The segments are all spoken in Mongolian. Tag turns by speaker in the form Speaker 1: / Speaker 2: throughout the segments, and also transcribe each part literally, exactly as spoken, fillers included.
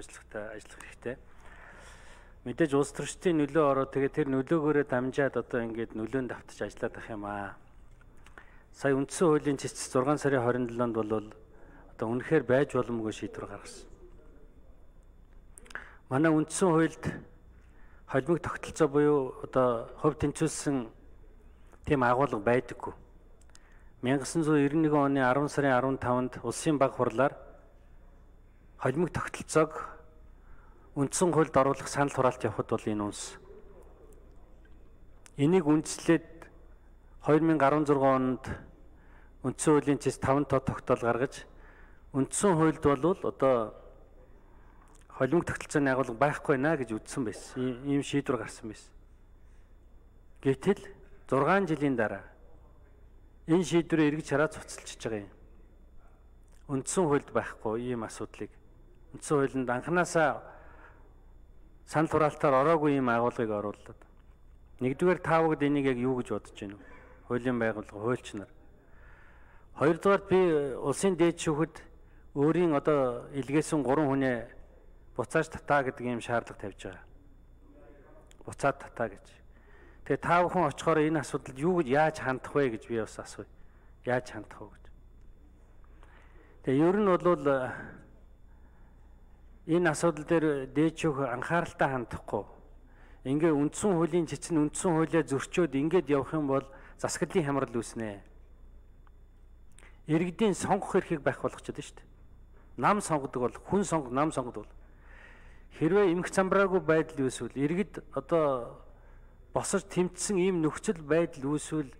Speaker 1: ажиллахтай ажиллах хэрэгтэй. Мэдээж улс төрчдийн нөлөө ороод тэгээ тэр нөлөөгөөрөө дамжаад одоо ингээд нөлөөнд давтаж ажиллаад ах юм аа. Сая үндсэн хуулийн цэцэс зургаан сарын хорин долоонд бол одоо үнэхээр байж боломгүй шийдвэр гаргасан. Манай үндсэн хуульд холимог тогтолцоо буюу одоо хувь тэнцвүүлсэн тийм агуулга байдаггүй. 천구၉нэг оны арван сарын арван таванд улсын баг хурлаар холимог тогтолцоог үндсэн хуульд оруулах санал хураалт явахд бол энэ үнс. Энийг үндэслээд две тысячи десятшесть онд үндсэн хуулийн цэс таван тоо тогтоол гаргаж үндсэн хуульд бол одоо холимог тогтолцооны агуулга байхгүй наа гэж үзсэн байсан. Ийм шийдвэр гарсан байсан. Гэтэл зургаан жилийн дараа энэ шийдвэрээ эргэж хараад цуцалчиж байгаа юм. Үндсэн хуульд байхгүй ийм асуудлыг үндсэн хуулинд анханасаа санал хураалтаар ороогүй ийм агуулгыг оруулаад. Нэгдүгээр таавагд энийг яг юу гэж бодож байна вэ? Хуулийн байгууллага, хуульч нар. Хоёрдугаар би улсын дээд шүүхэд өөрийн одоо илгээсэн гурван хүнээ буцааж татаа гэдэг ийм шаардлага тавьж байгаа. Буцаад татаа гэж. Тэгээ таа бүхэн очихоор энэ асуудалд юу гэж яаж хандах вэ гэж би бас асууя. Яаж хандах вэ гэж. Тэгээ ер нь бол энэ асуудал дээр дээд шүүх анхааралтай хандахгүй. Ингээ үндсэн хуулийн цэцэн үндсэн хуулиа зөрчөөд ингээд явах юм бол засаглалын хямрал үүснэ. Иргэдийн сонгох эрхийг байх болгочиход шүү дээ. Нам сонгодог бол хүн сонгох, нам сонгодог бол хэрвээ эмх замбраагүй байдал үүсвэл иргэд одоо босож тэмцсэн ийм нөхцөл байдал үүсвэл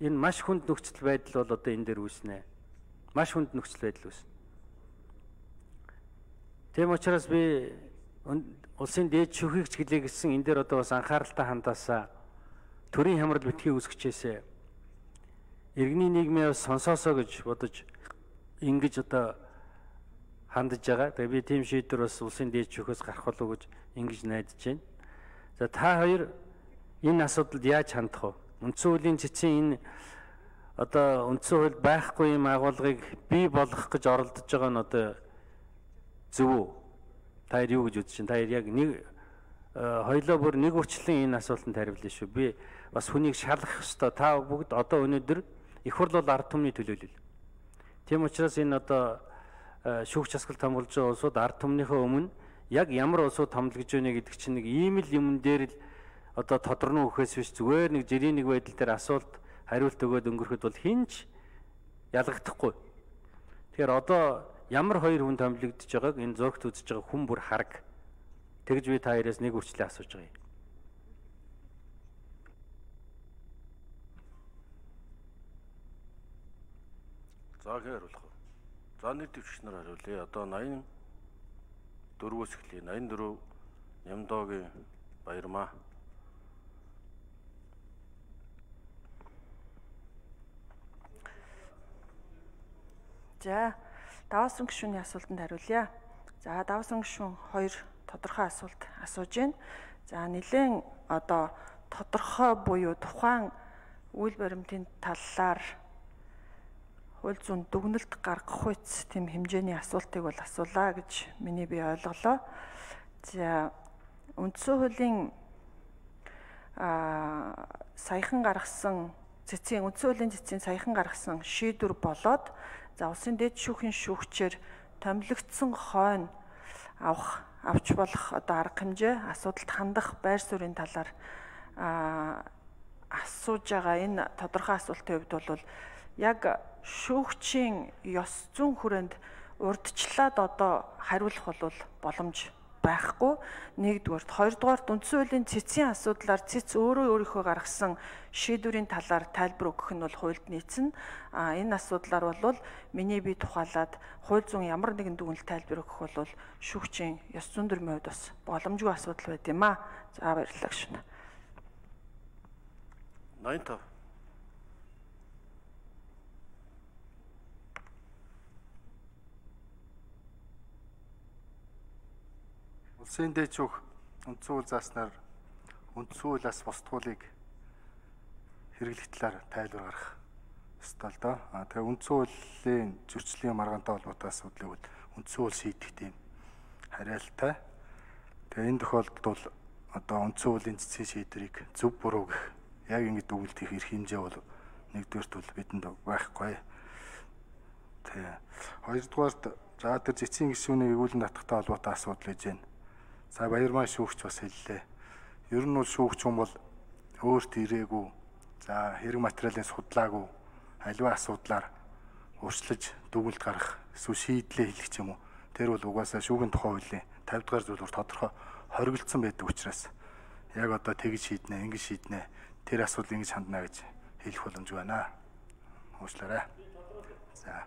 Speaker 1: энэ маш хүнд нөхцөл байдал бол одоо энэ дээр үүснэ. Маш хүнд нөхцөл байдал үүснэ. Тийм учраас би улсын дээд шүүхийг ч гэлээ гэсэн энэ дээр одоо бас анхааралтай хандаасаа төрийн хямрал битгий үүсгэжээсэ иргэний нийгмээ бас сонсоосоо гэж бодож ингэж одоо хандж байгаа. Тэгээ би тийм шийдвэр бас улсын дээд шүүхээс гарах болов гэж ингэж найдаж байна. За та хоёр энэ асуудалд яаж хандах вэ? Үндсэн хуулийн цэцэн энэ одоо үндсэн хуульд байхгүй юм агуулгыг бий болгох гэж оролдож байгаа нь одоо зөв үү? Та юу гэж үзэж байна? Та яг нэг хоёлоо бүр нэг үрчлэн энэ асуултанд хариулна шүү. Би бас хүнийг шалгах ёстой. Та бүгд одоо өнөөдөр их хурл бол ард түмний төлөөлөл. Тийм учраас энэ одоо шүүгч засаглалт хамгаалж байгаа улсууд ард түмнийхээ өмнө яг ямар улсууд хамлагж байна гэдэг чинь нэг ийм л юм дээр л одоо тодорно өгөхөөс биш зүгээр нэг жирийн нэг байдал дээр асуулт хариулт өгөөд өнгөрөхөд бол хинч ялгагдахгүй. Тэгэхээр одоо ямар хоёр хүн томилогдож байгааг энэ зургт үзэж байгаа хүн бүр хараг. Тэгж би та хоёроос нэг үрчлээ асууж байгаа юм.
Speaker 2: За гээ хариулах. За нэг төвчч нар хариулъя. Одоо восемьдесят дөрвөөс эхлэе. восемьдесят дөрөв Нямдоогийн Баярмаа.
Speaker 3: За даваасан гишүүний асуултанд хариулъя. За даваасан гишүүн хоёр тодорхой асуулт асууж байна. За нэлээд одоо тодорхой буюу тухайн үйл баримтын талаар хууль зүйн дүгнэлт гаргах үйц тийм хэмжээний асуултыг бол асуулаа гэж миний би ойлголоо. За үндсэн хуулийн а саяхан гаргасан цэцгийн үндсэн хуулийн цэцгийн саяхан гаргасан шийдвэр болоод за улсын дээд шүүхийн шүүгчээр томилогдсон хойно авах авч болох одоо арга хэмжээ асуудалд хандах байр суурийн талаар асууж байгаа энэ тодорхой асуултын хувьд бол яг шүүгчийн ёс зүйн хүрээнд урдчлаад одоо хариулах бол боломж байхгүй. Нэгдүгээр, хоёрдугаар үндсэн хуулийн цэцгийн асуудлаар цэц өөрөө өөрийнхөө гаргасан шийдвэрийн талаар тайлбар өгөх нь бол хуульд нийцнэ. А энэ асуудлаар бол миний бие тухайлаад хууль зүйн ямар нэгэн дүгнэлт тайлбар өгөх бол шүүгчийн ёс зүйн төрмийн хувьд бас боломжгүй асуудал байт юм аа. За баярлалаа гүшүүн.
Speaker 2: ninety five.
Speaker 4: Улсын дээд шүүх үндсэн хууль зааснаар үндсэн хуулиас бусдгуулыг хэрэглэх талаар тайлбар гаргах ёстой л доо. А тэгээ үндсэн хуулийн зөрчлийн маргаантай холбоотой асуудлыг бол үндсэн хууль шийдэх тийм хариалтай. Тэгээ энэ тохиолдолд бол одоо үндсэн хуулийн цэцгийн шийдвэрийг зөв буруу гэх яг ингэж дүгнэлт хийх эрх хэмжээ бол нэгдүгээрт бол бидэнд байхгүй. Тэгээ хоёрдугаарт за тэр цэцгийн гишүүнийг эгүүлэн татахтай холбоотой асуудал гэж байна. За Баярмаа шүүгч бас хэллээ. Ер нь бол шүүгч хүн бол өөрт ирээгүй. За хэрэг материалын судлаагүй аливаа асуудлаар урьдчилж дүгнэлт гаргах эсвэл шийдлээ хэлэх юм уу. Тэр бол угаасаа шүүгийн тухай хуулийн тавьд дугаар зүйлээр тодорхой хоригдсон байдаг учраас яг одоо тэгж шийднэ, ингэж шийднэ, тэр асуудал ингэж хандна гэж хэлэх боломжгүй байна. Уучлаарай. За.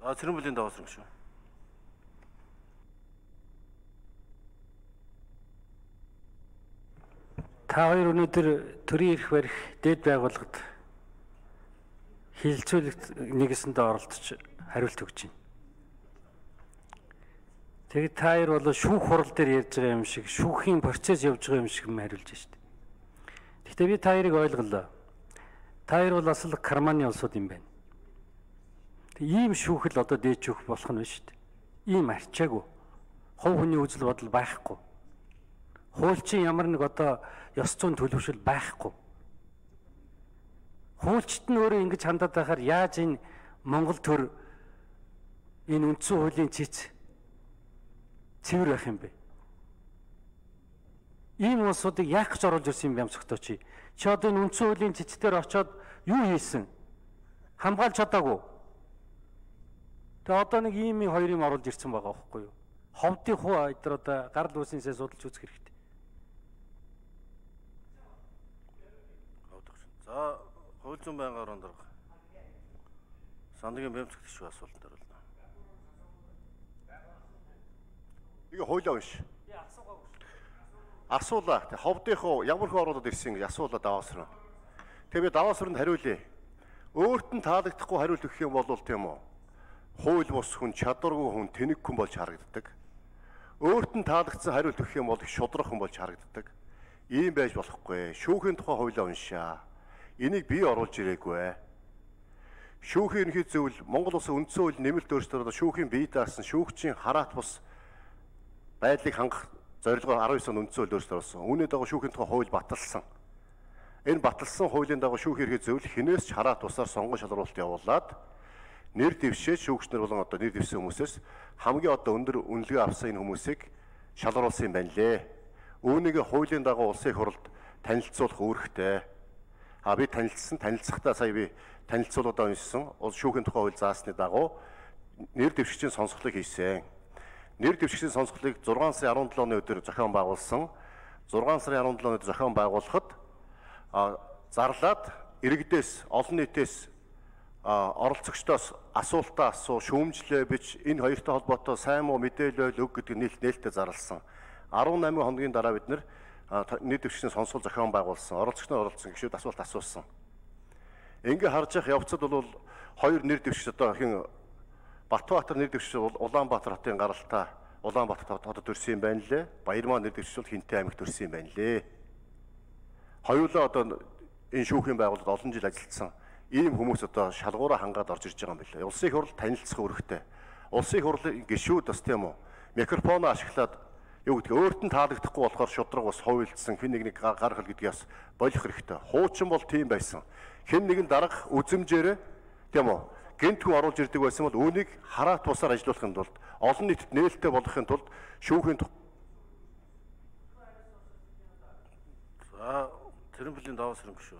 Speaker 2: За Цэрэнбүлийн даваасран шүү.
Speaker 1: Та хоёр өнөөдөр төрийн эрх барих дэд байгууллагад хилцүүлэгт нэгэсэндээ оролцож хариулт өгч байна. Тэгээд та хоёр бол шүүх хурал дээр ярьж байгаа юм шиг, шүүхийн процесс явж байгаа юм шиг юм хариулж байна шүү дээ. Гэхдээ би та хоёрыг ойлголоо. Та хоёр бол асал карманы улсууд юм байна. Ийм шүүхэл одоо дээд шүүх болох нь шүү дээ. Ийм арчаагүй. Хувь хүний үзэл бодол байхгүй. Хуульчин ямар нэг одоо ёс зүйн төлөвшөл байхгүй. Хуульчид нь өөрөө ингэж хандаад байхаар яаж энэ Монгол төр энэ үндсэн хуулийн цэц цэвэр байх юм бэ? Ийм улсуудыг яах гэж оруулж ирсэн юм бэ амсгтоо чи? Чи одоо энэ үндсэн хуулийн цэцээр очиод юу хийсэн? Хамгаалж чадаагүй. Тэгээ одоо нэг ийм хоёр юм оруулж ирсэн байгаа байхгүй юу? Ховдын хуу эдгээр одоо гарал үүснээсээ судалж үзэх хэрэгтэй.
Speaker 2: За хууль зүйн байнгын орон дарга Сандагийн бямцгт гişүү асуултанд хариулна.
Speaker 5: Нэг хуулиа биш. Асуулаа. Тэг ховдынхоо ямар хөө оролдод ирсэн гэж асуулаа даваасраа. Тэг би даваасранд хариулъя. Өөрт нь таалагдахгүй хариулт өгөх юм бол тийм үү? Хууль бус хүн, чадваргүй хүн, тэнэг хүн болж харагддаг. Өөрт нь таалагдсан хариулт өгөх юм бол шудрах хүн болж харагддаг. Ийм байж болохгүй. Шүүхийн тухай хуулиа уншаа. Энийг бий оруулж ирээгүй. Шүүхийн ерөнхий зөвлөл Монгол Улсын үндсэн хуулийн нэмэлт өөрчлөлтөөр шүүхийн бие даасан шүүгчийн хараат бус байдлыг хангах зорилгоор арван девять он үндсэн хууль өөрчлөлт орсон. Үүний дагуу шүүхийн тухай хууль баталсан. Энэ баталсан хуулийн дагуу шүүхийн ерөнхий зөвлөл хинээс ч хараат бусаар сонгон шалруулалт явуулаад нэр дэвшээ шүүгчнэр болон одоо нэр дэвсэн хүмүүсээс хамгийн одоо өндөр үнэлгээ авсан энэ хүмүүсийг шалгаруулсан юм байна лээ. Үүнийг хуулийн дагуу улсын их хурлд танилцуулах үүрэгтэй. А би танилцсан, танилцахдаа сая би танилцуулгадаа уншсан. Улс шүүхийн тухай хууль заасны дагуу нэр дэвшигчийн сонсголыг хийсэн. Нэр дэвшигчийн сонсголыг зургаан сарын арван долооны өдөр зохион байгуулсан. зургаан сарын арван долооны өдөр зохион байгуулахад зарлаад иргэдээс, олон нийтээс оролцогчдоос асуултаа асуу, шүүмжлээ бич энэ хоёртой холбоотой сайн муу мэдээлэл өг гэдэг нээлт нээлттэй зарласан. арван найман хоногийн дараа бид нэр нэр дэвшигчийн сонсгол зохион байгуулсан. Оролцогч нар оролцсон гişүүд асуулт асуусан. Ингээ харж явах явцад бол хоёр нэр дэвшигч одоо хин Батбаатар нэр дэвшигч бол Улаанбаатар хотын гаралтай Улаанбаатар хотод төрсэн юм байна лээ. Баярмаа нэр дэвшигч бол Хинтээ аймагт төрсэн юм байна лээ. Хоёулаа одоо энэ шүүхийн байгууллагад олон жил ажилласан ийм хүмүүс одоо шалгуураа хангаад орж ирж байгаа юм байна. Улсын их хурл танилцах үүрэгтэй. Улсын их хурлын гишүүд бас тийм үү микрофоноо ашиглаад юу гэдэг өөрт нь таалагдахгүй болохоор шудраг бас ховилдсан хэн нэгний гар хэл гэдгээс болох хэрэгтэй. Хуучин бол тийм байсан. Хэн нэгэн дарга үзэмжээр тийм үү гэнт хүн оруулж ирдэг байсан бол үүнийг хараат бусаар ажиллуулахын тулд олон нийтэд нээлттэй болгохын тулд шүүхийн
Speaker 2: За Цэрэнбүлийн даваасран гişүү.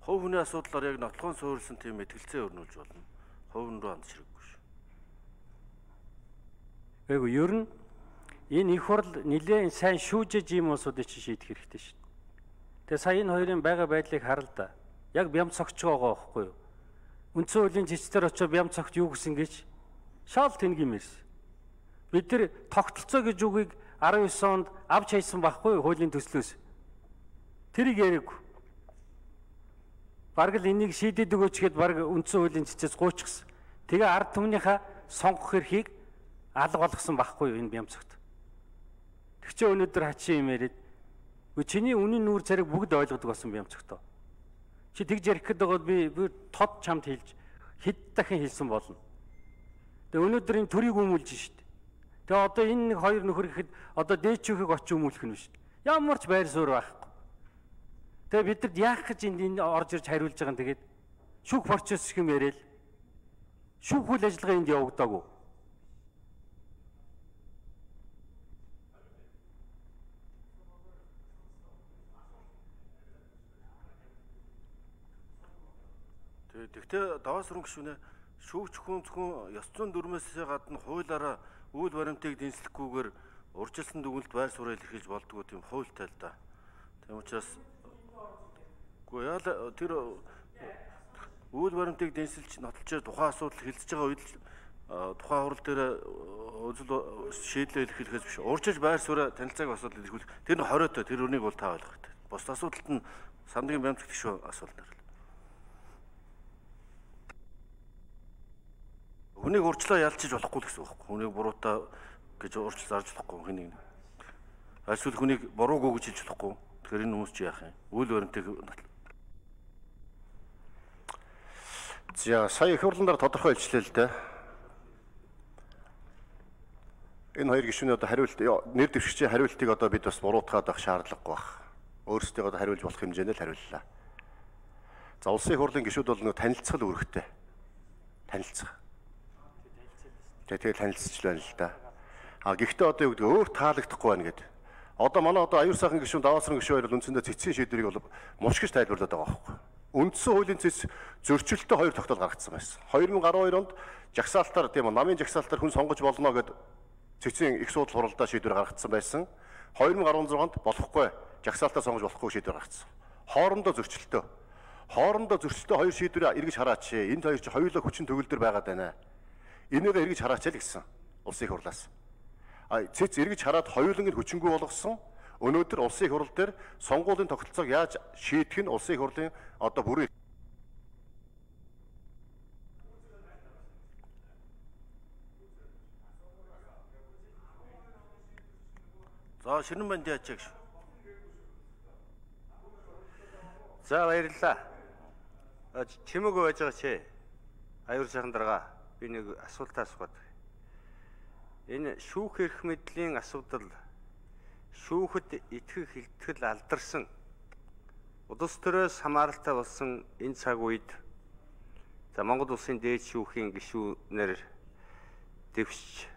Speaker 2: Хувь хүний асуудлаар яг нотлохын суурилсан тийм мэтгэлцээ өрнүүлж болно. Хувь руу хандж хэрэггүй шүү.
Speaker 1: Эйгүү ер нь энэ их хурл нэлээд сайн шүүжиж ийм улсуудыг чи шийдэх хэрэгтэй шүү дээ. Тэгээ сая энэ хоёрын байгаа байдлыг харал да. Яг бям цогч байгаа байхгүй юу? Үндсэн хуулийн зэцтэр очиж бям цогт юу гэсэн гэж шал тэнэг юм ирсэн. Бид нар тогтолцоо гэж үгийг арван девять онд авч хайсан байхгүй юу хуулийн төслөөс. Тэрийг яриаггүй. Бараг л энийг шийдээд өгөөч гэхэд бараг үндсэн хуулийн зэцээс гуйчихсан. Тэгээ ард түмнийхээ сонгох эрхийг алга болгосон байхгүй юу энэ бям цогт. Тэгчээ өнөөдөр хачин юм яриад үгүй чиний үнийн нүүр цариг бүгд ойлгодог болсон бям цогтоо. Чи тэгж ярих гээд байгаад би би тод чамд хэлж хэд дахин хэлсэн болно. Тэгээ өнөөдөр энэ төрийг өмүүлж шít. Тэгээ одоо энэ нэг хоёр нөхөр гэхэд одоо дээд шүүхийг очиж өмүүлэх нь биш. Ямар ч байр суурь байхгүй. Тэгээ бидэд яах гэж энд энэ орж ирж хариулж байгаа юм тэгээд шүүх процесс гэх юм яриад шүүх үйл ажиллагаа энд явагдаагүй.
Speaker 2: Тэгтээ даваа сүрэн гишүүнээ шүүгч хүн зөвхөн ёс зүйн дүрмээс гадна хуулиараа үйл баримтыг дэнслэхгүйгээр урьдчилсан дүгнэлт байр суурь илэрхийлж болдгоо тийм хуультай л да. Тийм учраас үгүй яа тэр үйл баримтыг дэнсэлж нотолчоор тухайн асуудал хилцэж байгаа үед тухайн хурал дээр үзэл шийдлээ илэрхийлэхээс биш урьдчилж байр суурь танилцааг асуудал илэрхийлэх тэр нь хориотой тэр үнийг бол та ойлгох хэрэгтэй. Бус асуудалт нь сандгийн баримт гишүүн асуудал. Хүнийг урьдчилаа ялчиж болохгүй л гэсэн үг байхгүй. Хүнийг буруутай гэж урьдчил зарж болохгүй хэнийг. Эсвэл хүнийг буруугүй гэж хэлж болохгүй. Тэгэхээр энэ хүмүүс чи яах юм? Үйл баримтыг
Speaker 5: За сая их хурлаар тодорхой илчлээ л дээ. Энэ хоёр гишүүний одоо хариулт нэр дэвшигчийн хариултыг одоо бид бас буруутгаад авах шаардлагагүй байна. Өөрсдөө одоо хариулж болох хэмжээнд л хариуллаа. За улсын их хурлын гишүүд бол нэг танилцгал үүрэгтэй. Танилцах. Тэгээд танилцж байна л да. А гэхдээ одоо юу гэдэг өөр таалагдахгүй байна гэдэг. Одоо манай одоо аюул сайхан гишүүн даваасрын гишүүн хоёр бол үндсэндээ цэцгийн шийдвэрийг бол мушгиж тайлбарлаад байгаа байхгүй. Үндсэн хуулийн цэц зөрчилтөй хоёр тогтоол гаргацсан байсан. две тысячи двадцать deux онд жагсаалтаар тийм үү намын жагсаалтаар хүн сонгож болно гэд цэцгийн их судал хуралдаа шийдвэр гаргацсан байсан. две тысячи дөрвөн онд болохгүй жагсаалтаа сонгож болохгүй шийдвэр гаргацсан. Хоорондоо зөрчилтөй. Хоорондоо зөрчилтөй хоёр шийдвэрийг эргэж хараач. Энд хоёр чи хоёулаа хүчин төгөлдөр байгаад байна. Энийг эргэж хараач л гэсэн улсын их хурлаас. А цэц эргэж хараад хоёуланг нь хүчингүй болгосон. Өнөөдөр улсын их хурл дээр сонгуулийн тогтолцоог яаж шийдэх нь улсын их хурлын одоо бүрэн
Speaker 2: За шинэн банд яаж гэж.
Speaker 6: За баярлалаа. Чимээгүй байж байгаа чи. Аюул сайхан дарга би нэг асуулт асуух. Энэ шүүх эрх мэдлийн асуудал шүүхэд итгэх хилтгэл алдарсан улс төрөөс хамааралтай болсон энэ цаг үед за Монгол улсын дээд шүүхийн гишүүнээр дэвшиж